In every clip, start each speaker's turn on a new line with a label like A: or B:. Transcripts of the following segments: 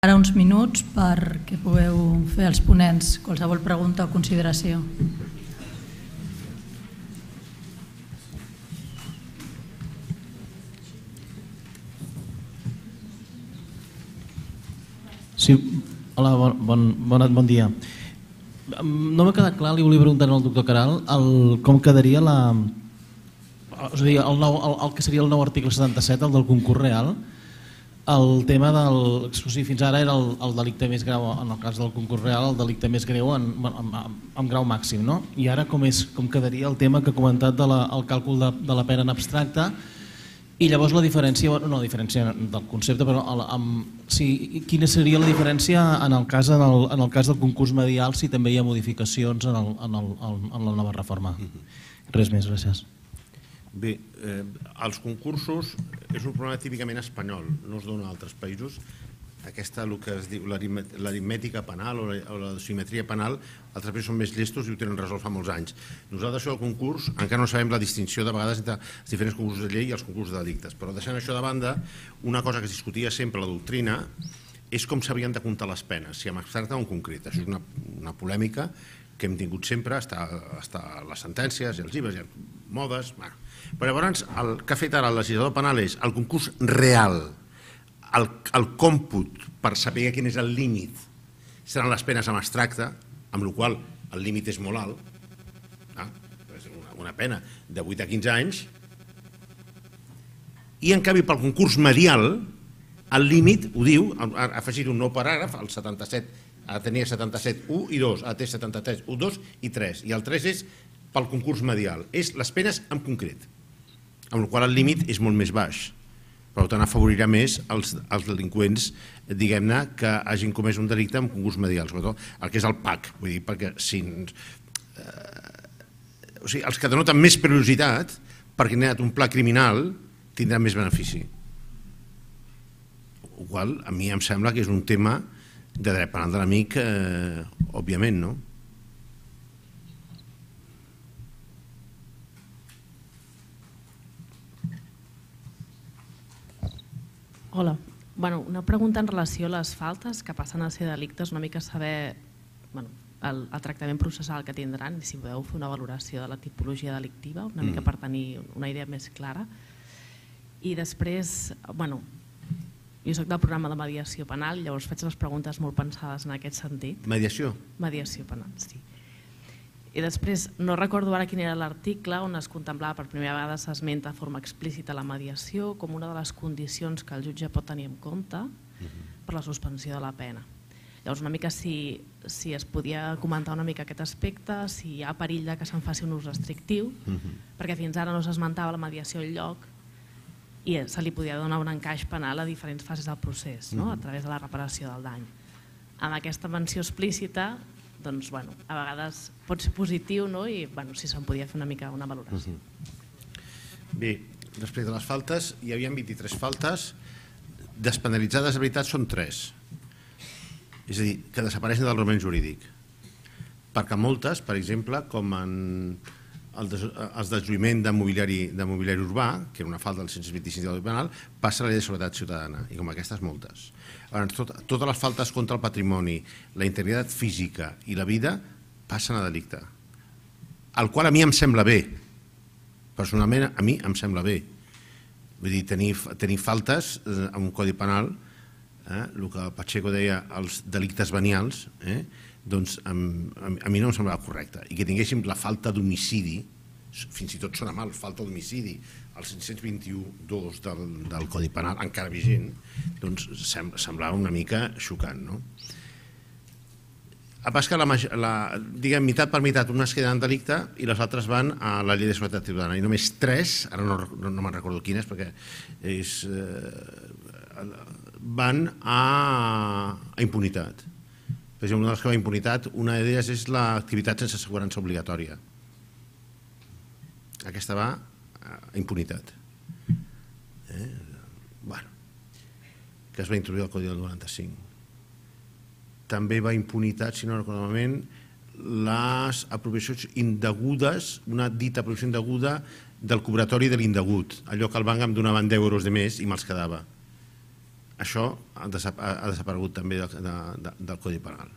A: Ara uns minuts perquè pugueu fer els ponents qualsevol pregunta o consideració.
B: Sí, hola, bon dia. No m'ha quedat clar, li volia preguntar al doctor Caral com quedaria el que seria el nou article 77, el del concurs real. El tema del... Fins ara era el delicte més greu, en el cas del concurs real, el delicte més greu en grau màxim, no? I ara com quedaria el tema que ha comentat del càlcul de la pena en abstracte i llavors la diferència, no la diferència del concepte, però quina seria la diferència en el cas del concurs medial si també hi ha modificacions en la nova reforma? Res més, gràcies.
C: Bé, els concursos és un problema típicament espanyol, no es dona a altres països. Aquesta, el que es diu l'aritmètica penal o la simetria penal, altres països són més llestos i ho tenen resolt fa molts anys. Nosaltres, això del concurs, encara no sabem la distinció de vegades entre els diferents concursos de llei i els concursos de delictes, però deixant això de banda, una cosa que es discutia sempre a la doctrina és com s'havien de comptar les penes, si en abstracte o en concret. Això és una polèmica que hem tingut sempre, està a les sentències i els llibres, i modes... Però llavors el que ha fet ara el legislador penal és el concurs real, el còmput per saber quin és el límit, seran les penes en abstracte, amb la qual el límit és molt alt, una pena de 8 a 15 anys, i en canvi pel concurs medial el límit, ho diu, ha afegit un nou paràgraf, el 77, ara tenia 77, 1 i 2, ara té 73, 1, 2 i 3, i el 3 és pel concurs medial, és les penes en concret, amb la qual el límit és molt més baix. Per tant, afavorirà més els delinqüents, diguem-ne, que hagin comès un delicte amb concurs medial, sobretot el que és el PAC, vull dir, perquè els que denoten més perillositat, perquè han anat un pla criminal, tindran més benefici. El qual a mi em sembla que és un tema de dret penal de l'amic, òbviament, no?
D: Hola. Una pregunta en relació a les faltes que passen a ser delictes, una mica saber el tractament processal que tindran i si podeu fer una valoració de la tipologia delictiva, una mica per tenir una idea més clara. I després, jo soc del programa de mediació penal, llavors faig les preguntes molt pensades en aquest sentit.
C: Mediació?
D: Mediació penal, sí. I després, no recordo ara quin era l'article on es contemplava per primera vegada, s'esmenta de forma explícita la mediació com una de les condicions que el jutge pot tenir en compte per la suspensió de la pena. Llavors, una mica si es podia comentar una mica aquest aspecte, si hi ha perill que se'n faci un ús restrictiu, perquè fins ara no s'esmentava la mediació enlloc i se li podia donar un encaix penal a diferents fases del procés, a través de la reparació del dany. Amb aquesta menció explícita, doncs, a vegades pot ser positiu i si se'n podia fer una mica una valoració.
C: Bé, després de les faltes, hi havia 23 faltes, despenalitzades de veritat són 3. És a dir, que desapareixen del ordenament jurídic. Perquè moltes, per exemple, com els deslluïment de mobiliari urbà, que era una falta del 125 del Codi Penal, passa a la llei de seguretat ciutadana, i com aquestes moltes. Totes les faltes contra el patrimoni, la integritat física i la vida passen a delicte, el qual a mi em sembla bé, personalment a mi em sembla bé. Vull dir, tenir faltes en un codi penal, el que Pacheco deia els delictes venials, doncs a mi no em semblava correcte. I que tinguéssim la falta d'homicidi, fins i tot sona mal, falta d'homicidi, el 521.2 del Codi Penal, encara vigent, doncs semblava una mica xocant, no? A pas que, diguem, meitat per meitat, unes queden en delicte i les altres van a la llei de seguretat ciutadana. I només 3, ara no me'n recordo quines, perquè van a impunitat. Per exemple, una de les que va a impunitat, una d'elles és l'activitat sense assegurança obligatòria. Aquesta va a impunitat. Que es va introduir al Codi del 95. També va a impunitat, si no recordo malament, les apropiacions indegudes, una dita apropiació indeguda del cobratori de l'indegut, allò que el banc em donava 10 euros de més i me'ls quedava. això ha desaparegut també del Codi Penal.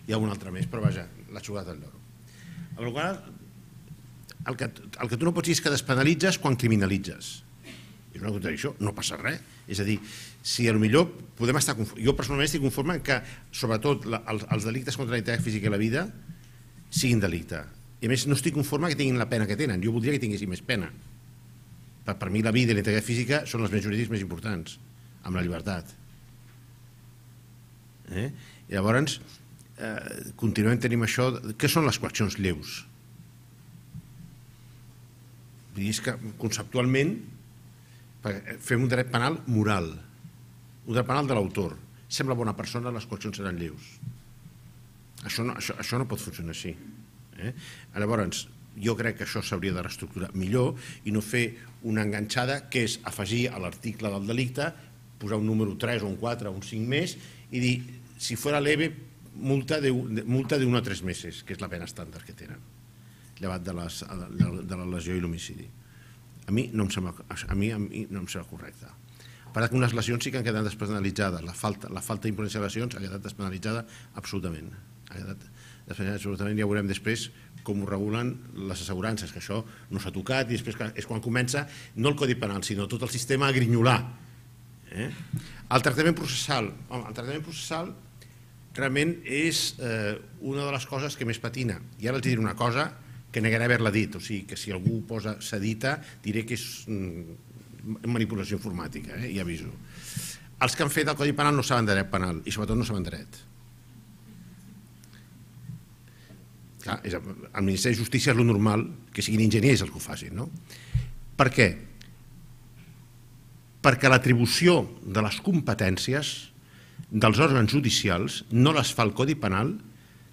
C: Hi ha un altre més, però vaja, la jugada del lloro. El que tu no pots dir és que despenalitzes quan criminalitzes. És una contradicció, no passa res. És a dir, si potser podem estar... Jo personalment estic conforme que, sobretot, els delictes contra la integritat física i la vida siguin delicte. I a més, no estic conforme que tinguin la pena que tenen. Jo voldria que tinguessin més pena. Per mi la vida i la integritat física són els béns jurídics més importants, amb la llibertat. I llavors, continuem tenint això... Què són les coaccions lleus? Vull dir, és que conceptualment fem un dret penal moral, un dret penal de l'autor. Sembla bona persona, les coaccions seran lleus. Això no pot funcionar així. Llavors, jo crec que això s'hauria de reestructurar millor i no fer una enganxada que és afegir a l'article del delicte, posar un número 3 o un 4 o un 5 més i dir, si fuera leve, multa de 1 a 3 mesos, que és la pena estàndard que tenen, llevat de la lesió i l'homicidi. A mi no em sembla correcte. Per tant, unes lesions sí que han quedat despenalitzades. La falta d'imprudència de lesions ha quedat despenalitzada absolutament. Ja veurem després com ho regulen les assegurances, que això no s'ha tocat i després és quan comença no el Codi Penal, sinó tot el sistema a grinyolar. El tractament processal realment és una de les coses que més patina. I ara els diré una cosa que negaré haver-la dit, o sigui que si algú posa sedita diré que és manipulació informàtica, ja aviso. Els que han fet el Codi Penal no saben de dret penal i sobretot no saben dret. El Ministeri de Justícia és el normal que siguin enginyers els que ho facin, no? Per què? Perquè l'atribució de les competències dels òrgans judicials no les fa el Codi Penal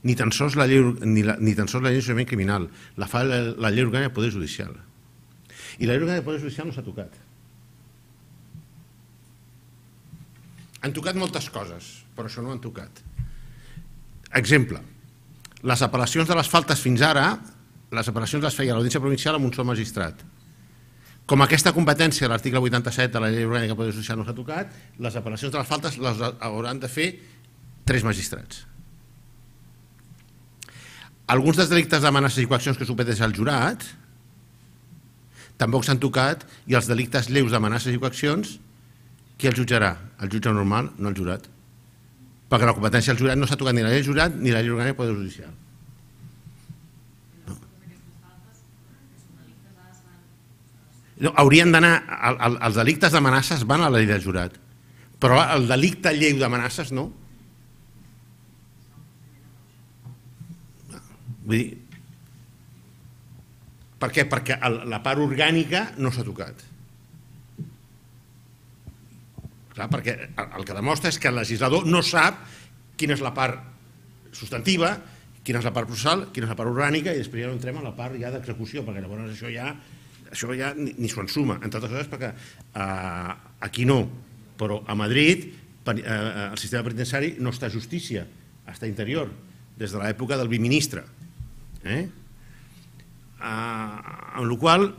C: ni tan sols la llei d'enjudiciament criminal, la fa la llei orgànica del Poder Judicial. I la llei orgànica del Poder Judicial no s'ha tocat. Han tocat moltes coses, però això no ho han tocat. Exemple, les apel·lacions de les faltes fins ara, les apel·lacions les feia l'Audiència Provincial amb un sol magistrat. Com aquesta competència de l'article 87 de la llei orgànica del Poder Judicial no s'ha tocat, les apel·lacions de les faltes les hauran de fer 3 magistrats. Alguns dels delictes d'amenaces i coaccions que supedeix al jurat tampoc s'han tocat i els delictes lleus d'amenaces i coaccions, qui els jutjarà? El jutge normal, no el jurat. Perquè la competència del jurat no s'ha tocat ni la llei del jurat ni la llei orgànica del Poder Judicial. No, haurien d'anar, els delictes d'amenaces van a la llei del jurat, però el delicte lleu d'amenaces no. Vull dir, per què? Perquè la part orgànica no s'ha tocat. Clar, perquè el que demostra és que el legislador no sap quina és la part substantiva, quina és la part processal, quina és la part orgànica, i després ja no entrem a la part ja d'execució, perquè llavors això ja ni s'ho ensuma, entre altres coses perquè aquí no, però a Madrid el sistema penitenciari no està a justícia, està a interior, des de l'època del biministre. Amb la qual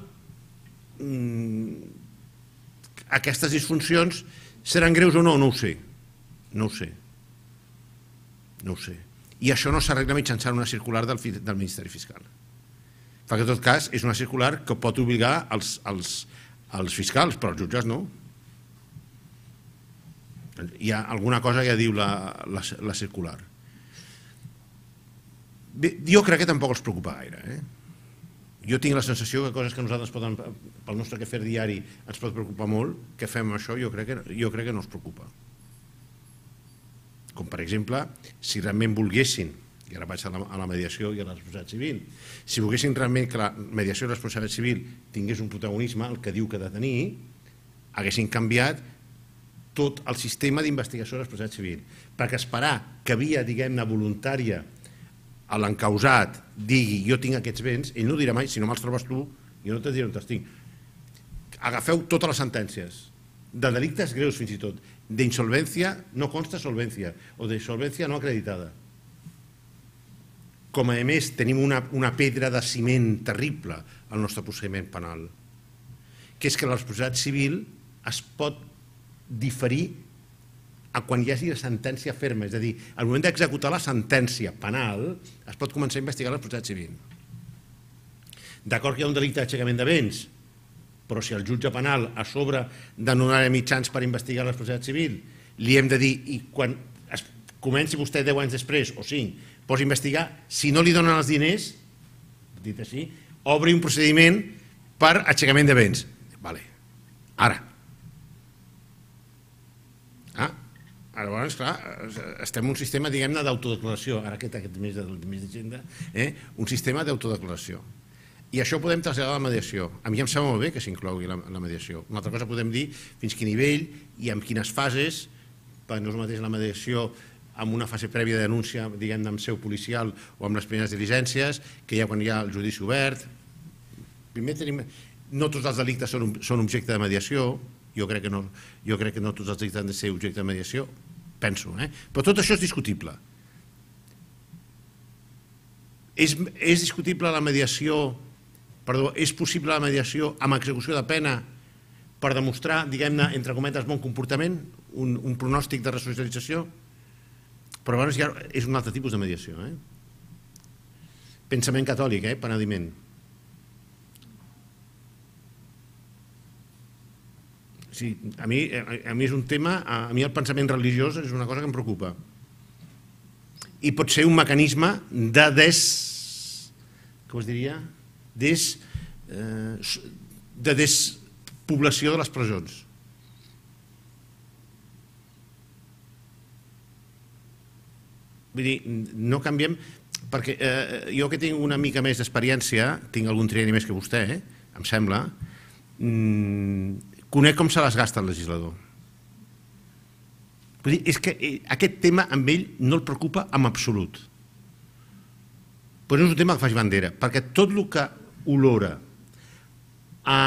C: aquestes disfuncions seran greus o no? No ho sé. No ho sé. I això no s'arregla mitjançant una circular del Ministeri Fiscal. Perquè en tot cas és una circular que pot obligar els fiscals, però els jutges no. Hi ha alguna cosa que diu la circular. Bé, jo crec que tampoc els preocupa gaire. Jo tinc la sensació que coses que nosaltres pel nostre quefer diari ens pot preocupar molt, que fem això, jo crec que no els preocupa. Com per exemple, si realment volguessin, i ara vaig a la mediació i a la responsabilitat civil, si volguessin realment que la mediació i la responsabilitat civil tingués un protagonisme, el que diu que ha de tenir, haguessin canviat tot el sistema d'investigació de la responsabilitat civil, perquè esperar que via, diguem-ne, voluntària a l'encausat digui jo tinc aquests béns, ell no dirà mai, si no me'ls trobes tu, jo no te diré on te'ls tinc. Agafeu totes les sentències, de delictes greus fins i tot, d'insolvència no consta solvència, o d'insolvència no acreditada. Com a més tenim una pedra de ciment terrible al nostre procediment penal, que és que la responsabilitat civil es pot diferir a quan hi hagi la sentència ferma, és a dir, al moment d'executar la sentència penal es pot començar a investigar la responsabilitat civil. D'acord que hi ha un delicte d'aixecament de béns, però si el jutge penal a sobre de no donar mitjans per investigar la responsabilitat civil li hem de dir, i quan es comenci vostè 10 anys després o 5, pots investigar, si no li donen els diners, dit així, obri un procediment per aixecament de béns. Vale. Ara. Llavors, clar, estem en un sistema, diguem-ne, d'autodeclaració, ara aquest mes d'agenda, un sistema d'autodeclaració. I això ho podem traslladar a la mediació. A mi em sembla molt bé que s'inclogui la mediació. Una altra cosa podem dir fins quin nivell i en quines fases, perquè no és el mateix la mediació amb una fase prèvia de denúncia, diguem-ne, amb seu policial o amb les primeres diligències, que ja quan hi ha el judici obert. Primer tenim... No tots els delictes són objecte de mediació, jo crec que no tots els delictes han de ser objecte de mediació, penso, però tot això és discutible. És discutible la mediació, perdó, és possible la mediació amb execució de pena per demostrar, diguem-ne, entre cometes, bon comportament, un pronòstic de resocialització, però llavors ja és un altre tipus de mediació. Pensament catòlic, penediment. Sí, a mi és un tema, a mi el pensament religiós és una cosa que em preocupa. I pot ser un mecanisme de com es diria? De despoblació de les presons. Vull dir, no canviem, perquè jo que tinc una mica més d'experiència, tinc algun trienni més que vostè, em sembla, conec com se les gasta el legislador. Vull dir, és que aquest tema amb ell no el preocupa en absolut. Però no és un tema que faci bandera, perquè tot el que olora a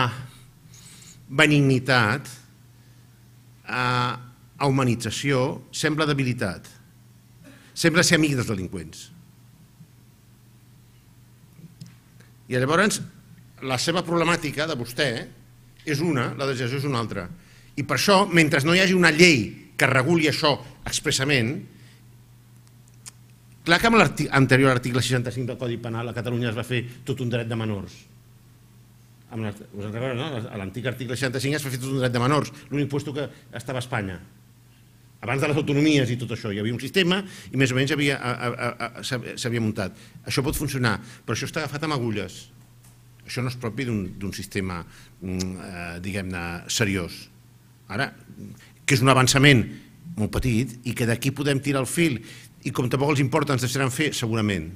C: benignitat, a humanització, sembla debilitat. Sembla ser amic dels delinqüents. I llavors, la seva problemàtica de vostè és una, la legislació és una altra. I per això, mentre no hi hagi una llei que reguli això expressament, clar que amb l'anterior article 65 del Codi Penal a Catalunya es va fer tot un dret de menors. Us en recordeu, no? A l'antic article 65 es va fer tot un dret de menors, l'únic puesto que estava a Espanya. Abans de les autonomies i tot això, hi havia un sistema i més o menys s'havia muntat. Això pot funcionar, però això està agafat amb agulles. Això no és propi d'un sistema, diguem-ne, seriós. Ara, que és un avançament molt petit i que d'aquí podem tirar el fil i com tampoc els importa ens deixaran fer, segurament.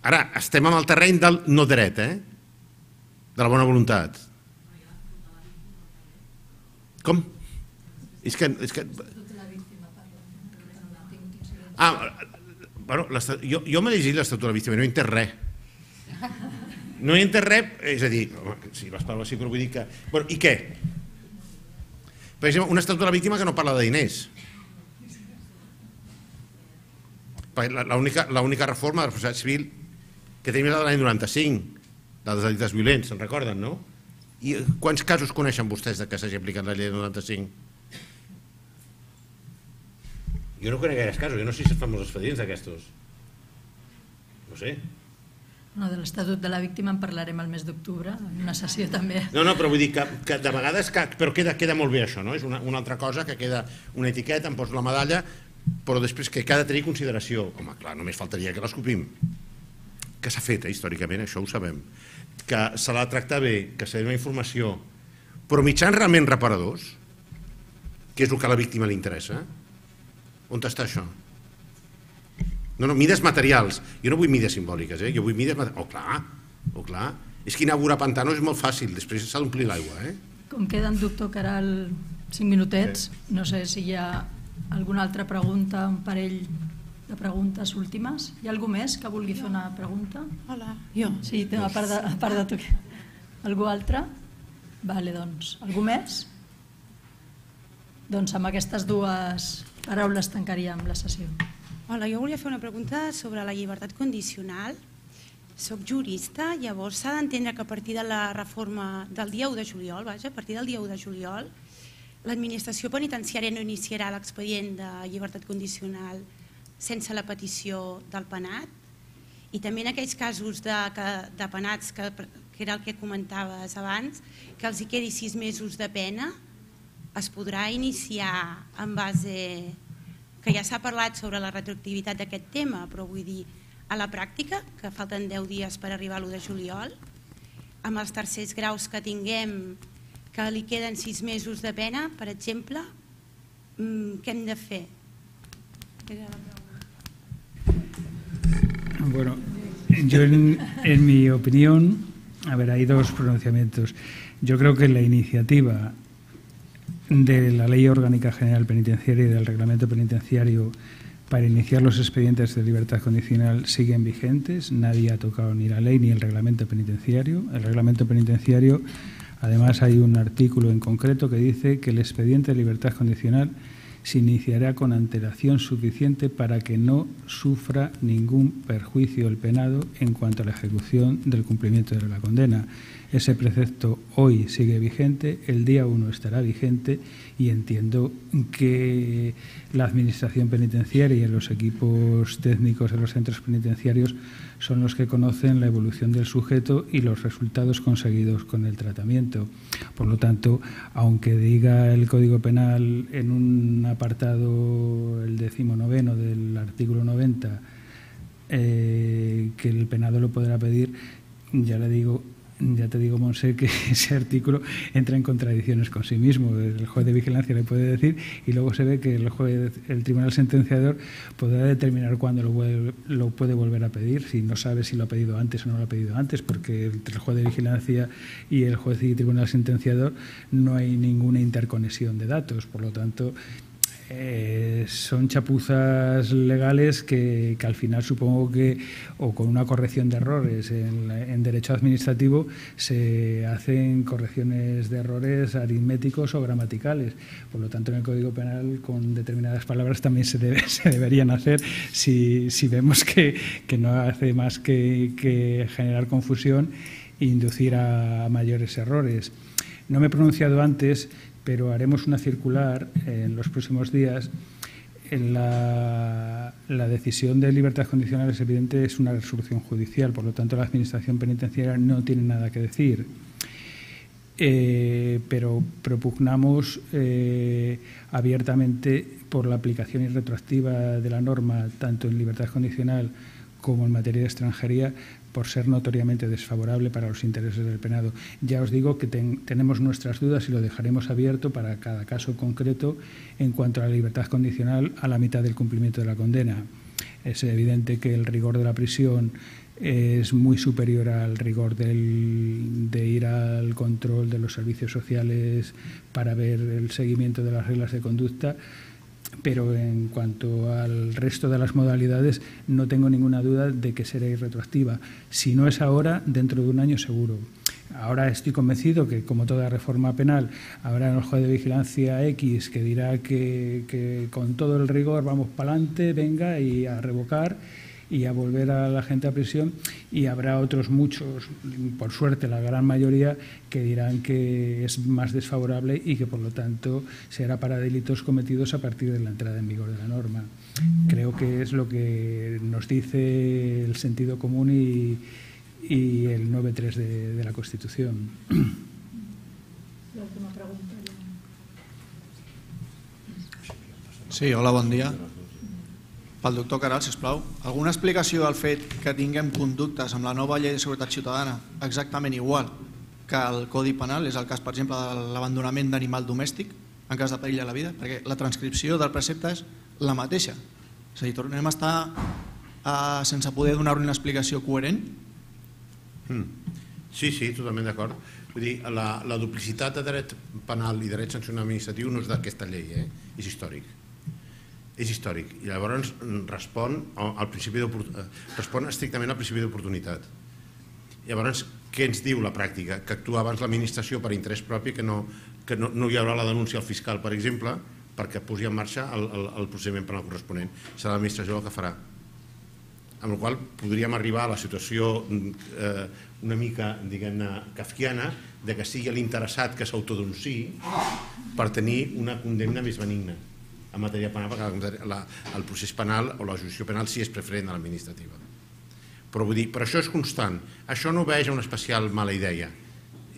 C: Ara, estem en el terreny del no dret, de la bona voluntat. Com? És que... Jo m'he llegit l'Estatut de la Víctima i no he entès res. No hi entès res, és a dir, sí, les paraules sí, però vull dir que... I què? Per exemple, un estatut de la víctima que no parla de diners. L'única reforma de la responsabilitat civil que tenim és la de l'any 95, dels delictes violents, se'n recorden, no? I quants casos coneixen vostès que s'hagi aplicat la llei del 95? Jo no conec gaires casos, jo no sé si es fan molts expedients d'aquestos. No sé.
A: No, de l'Estatut de la Víctima en parlarem el mes d'octubre, en una sessió també.
C: No, però vull dir que de vegades però queda molt bé això, no? És una altra cosa que queda una etiqueta, em poso la medalla, però després que ha de tenir consideració. Home, clar, només faltaria que l'escopim. Que s'ha fet, històricament, això ho sabem. Que se l'ha de tractar bé, que s'ha de donar informació, però mitjans realment reparadors, que és el que a la víctima li interessa. On està això? No, mides materials. Jo no vull mides simbòliques, jo vull mides materials. Oh, clar. És que inaugurar pantanos és molt fàcil, després s'ha d'omplir l'aigua.
A: Com queden, doctor Caral, 5 minutets, no sé si hi ha alguna altra pregunta, un parell de preguntes últimes. Hi ha algú més que vulgui fer una pregunta?
E: Hola, jo.
A: Sí, a part de tu. Algú altre? Vale, doncs, algú més? Doncs amb aquestes dues paraules tancaríem la sessió.
E: Hola, jo volia fer una pregunta sobre la llibertat condicional. Soc jurista, llavors s'ha d'entendre que a partir de la reforma del dia 1 de juliol, a partir del dia 1 de juliol, l'administració penitenciària no iniciarà l'expedient de llibertat condicional sense la petició del penat, i també en aquells casos de penats, que era el que comentaves abans, que els hi quedi 6 mesos de pena, es podrà iniciar en base... que ja s'ha parlat sobre la retroactivitat d'aquest tema, però vull dir, a la pràctica, que falten 10 dies per arribar a l'1 de juliol, amb els tercers graus que tinguem, que li queden 6 mesos de pena, per exemple, què hem de fer?
F: Bueno, yo en mi opinión, a ver, hay dos pronunciamientos. Yo creo que la iniciativa de la Ley Orgánica General Penitenciaria y del Reglamento Penitenciario para iniciar los expedientes de libertad condicional siguen vigentes. Nadie ha tocado ni la ley ni el Reglamento Penitenciario. El Reglamento Penitenciario, además, hay un artículo en concreto que dice que el expediente de libertad condicional se iniciará con antelación suficiente para que no sufra ningún perjuicio el penado en cuanto a la ejecución del cumplimiento de la condena. Ese precepto hoy sigue vigente, el día 1 estará vigente, y entiendo que la Administración Penitenciaria y los equipos técnicos de los centros penitenciarios son los que conocen la evolución del sujeto y los resultados conseguidos con el tratamiento. Por lo tanto, aunque diga el Código Penal en un apartado, el 19º del artículo 90, que el penado lo podrá pedir, ya te digo, Monse, que ese artículo entra en contradicciones con sí mismo. El juez de vigilancia le puede decir, y luego se ve que el tribunal sentenciador podrá determinar cuándo lo puede volver a pedir, si no sabe si lo ha pedido antes o no lo ha pedido antes, porque entre el juez de vigilancia y el juez y tribunal sentenciador no hay ninguna interconexión de datos. Por lo tanto, son chapuzas legales que al final supongo que, o con una corrección de errores en derecho administrativo, se hacen correcciones de errores aritméticos o gramaticales. Por lo tanto, en el Código Penal, con determinadas palabras también se deberían hacer, si vemos que no hace más que generar confusión e inducir a mayores errores. No me he pronunciado antes, pero haremos una circular en los próximos días. La decisión de libertad condicional, es evidente, es una resolución judicial, por lo tanto la Administración Penitenciaria no tiene nada que decir. Pero propugnamos abiertamente por la aplicación irretroactiva de la norma, tanto en libertad condicional como en materia de extranjería, por ser notoriamente desfavorable para los intereses del penado. Ya os digo que tenemos nuestras dudas y lo dejaremos abierto para cada caso concreto en cuanto a la libertad condicional a la mitad del cumplimiento de la condena. Es evidente que el rigor de la prisión es muy superior al rigor de ir al control de los servicios sociales para ver el seguimiento de las reglas de conducta, pero en cuanto al resto de las modalidades no tengo ninguna duda de que será irretroactiva. Si no es ahora, dentro de un año seguro. Ahora estoy convencido que, como toda reforma penal, habrá un juez de vigilancia X que dirá que con todo el rigor vamos para adelante, venga, y a revocar y a volver a la gente a prisión, y habrá otros muchos, por suerte la gran mayoría, que dirán que es más desfavorable y que por lo tanto será para delitos cometidos a partir de la entrada en vigor de la norma. Creo que es lo que nos dice el sentido común y el 9.3 de la Constitución.
A: La última pregunta.
G: Sí, hola, bon dia. Pel doctor Caral, sisplau. Alguna explicació del fet que tinguem conductes amb la nova llei de seguretat ciutadana exactament igual que el Codi Penal? És el cas, per exemple, de l'abandonament d'animal domèstic en cas de perill a la vida, perquè la transcripció del precepte és la mateixa. És a dir, tornem a estar sense poder donar-li una explicació coherent?
C: Sí, totalment d'acord. Vull dir, la duplicitat de dret penal i dret sancional administratiu no és d'aquesta llei, és històric. És històric i llavors respon estrictament al principi d'oportunitat. Llavors, què ens diu la pràctica? Que actua abans l'administració per interès propi, que no hi haurà la denúncia al fiscal, per exemple, perquè posi en marxa el procediment penal corresponent. Serà l'administració el que farà. amb la qual podríem arribar a la situació una mica, diguem-ne, kafkiana, de que sigui l'interessat que s'autodenunciï per tenir una condemna més benigna en matèria penal, perquè el procés penal o la jurisdicció penal sí és preferent a l'administrativa. Però vull dir, per això és constant. Això no obeeix a una especial mala idea,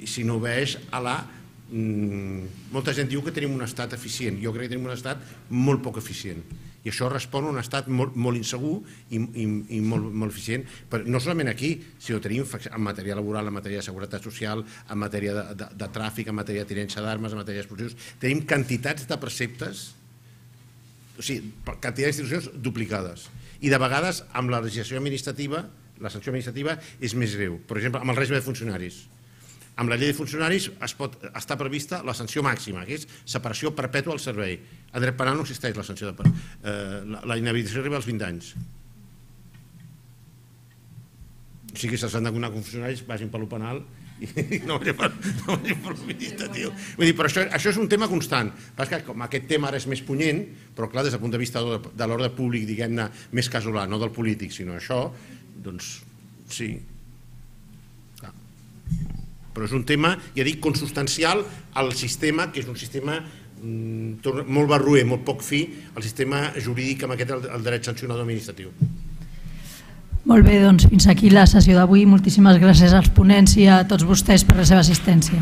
C: sinó obeeix a la... Molta gent diu que tenim un estat eficient. Jo crec que tenim un estat molt poc eficient. I això respon a un estat molt insegur i molt eficient, no solament aquí, sinó tenim en matèria laboral, en matèria de seguretat social, en matèria de tràfic, en matèria de tinença d'armes, en matèria d'explosius. Tenim quantitats de preceptes, o sigui, quantitats d'institucions duplicades. I de vegades, amb la legislació administrativa, la sanció administrativa és més greu. Per exemple, amb el règim de funcionaris. Amb la llei de funcionaris està prevista la sanció màxima, que és separació perpètua del servei. En dret penal no existeix la sanció de... La inhabilitació arriba als 20 anys. O sigui que si s'han de donar funcionaris, vagin per lo penal i no vagin per l'administratiu. Vull dir, però això és un tema constant. Que com aquest tema ara és més punyent, però clar, des del punt de vista de l'ordre públic, diguem-ne, més casolà, no del polític, sinó això, doncs sí. Però és un tema, ja dic, consubstancial al sistema, que és un sistema molt barroer, molt poc fi, el sistema jurídic amb aquest, el dret sancionador administratiu.
A: Molt bé, doncs fins aquí la sessió d'avui. Moltíssimes gràcies als ponents i a tots vostès per la seva assistència.